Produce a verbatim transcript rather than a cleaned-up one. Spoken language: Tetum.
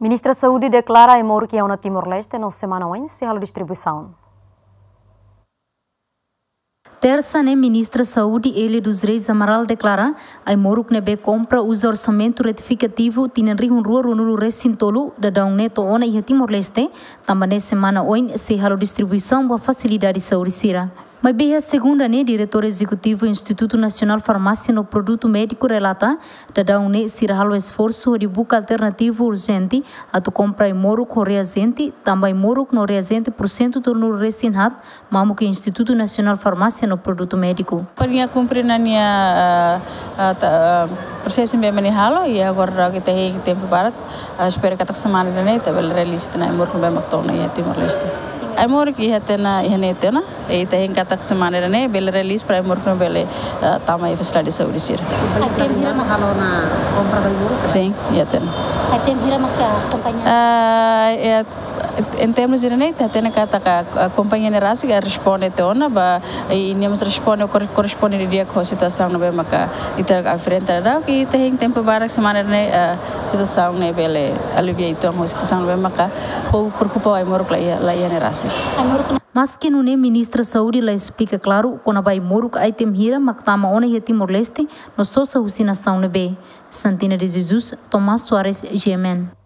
Ministra Saúde deklara ai-moruk iha ona Timor-Leste no semana oin sei halo distribuisaun. Tersa ne'e, Ministra Saúde Elia dos Reis Amaral deklara ai-moruk ne'ebé kompra uza orsamentu retifikativu tinan rihun rua ruanulu resin tolu daudaun ne'e to'o ona iha Timor-Leste, tanba ne'e semana oin sei halo distribuisaun ba fasilidade saúde sira. Maibé iha segunda ne'e, Diretór Ezekutivu Institutu Nasionál Farmásia no Produtu Médiku relata, daudaun ne'e sira halo esforsu hodi buka alternativu urjente atu kompra ai-moruk ho reajente, tanba ai-moruk no reajente pursentu tolunulu resin haat mamuk iha Institutu Nasionál Farmásia no Produtu Médiku. Para nia kumpre ona nia, ah, ah, ta-, ah, prosesu ne'ebé mak nia halo, i agora daudaun ita hein tempu badak, ah, espera katak semana ida-ne'e ita bele release tiha ona ai-moruk ne'ebé mak to'o ona iha Timor-Leste. Ai-moruk iha tiha ona, iha ne'e tiha ona, i ita hein katak semana ida-ne'e bele release para ai-moruk ne'e bele, ah, tama iha fasilidade saúde sira. Ai-temhira mak halo ona kompra ba ai-moruk? Sin, iha tiha ona. Ai-temhira mak akompaña? Ah, iha, em termos ida-ne'e, ita hatene katak, ah, kompañia ne'e rasik, ah, responde tiha ona ba, i, i nia mós responde, kor-, korresponde didi'ak ho situasaun ne'ebé maka ita enfrenta daudaun, i ita hein tempu badak semana ne'e, ah, situasaun ne'e bele alivia uitoan ho situasaun ne'ebé maka povu preokupa ai-moruk la iha, la iha ne'e rasik. Maski nune'e, Ministra Saúde la esplika klaru kona-ba ai-moruk ai-temhira mak tama ona iha Timor-Leste no sosa husi nasaun ne'ebé. Santina de Jesus, Tomás Soares, G M N.